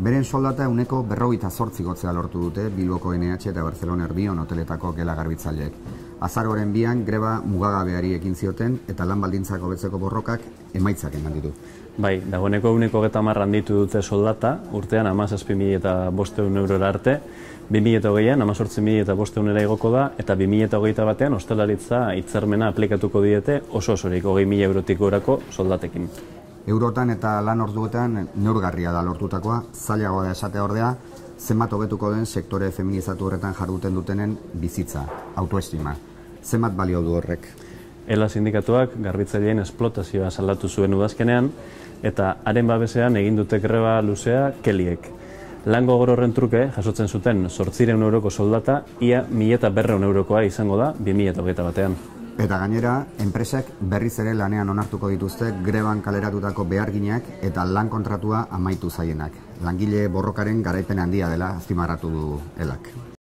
Beren soldata ehuneko 58 igotzea lortu dute Bilboko NH eta Barcelona Erdion hoteletako gela garbitzaileek. Azaroaren 2an greba mugagabeari ekin zioten eta lan baldintzak hobetzeko borrokak emaitzak eman ditu. Bai, dagoeneko ehuneko 30 handitu dute soldata, urtean 17.500 eurora arte, 2008an 18.500 igoko da, eta 2021an ostalaritza hitzarmena aplikatuko diete oso-osorik 20.000 eurotik gorako soldatekin. Eurotan eta lan orduetan neurgarria da lortutakoa, zailagoa da esatea ordea, zenbat hobetuko den sektore feminizatu horretan jarduten dutenen bizitza, autoestima. Zenbat balio du horrek? ELA sindikatuak garbitzaileen esplotazioa salatu zuen udazkenean, eta haren babesean egin dute greba luzea keliek. Lan gogor horren truke jasotzen zuten 800 euroko soldata, ia 1.200 eurokoa izango da 2021 batean. Eta gainera, enpresak berriz ere lanean onartuko dituzte greban kaleratutako beharginak eta lan kontratua amaitu zaienak. Langile borrokaren garaipen handia dela azpimarratu du ELAk.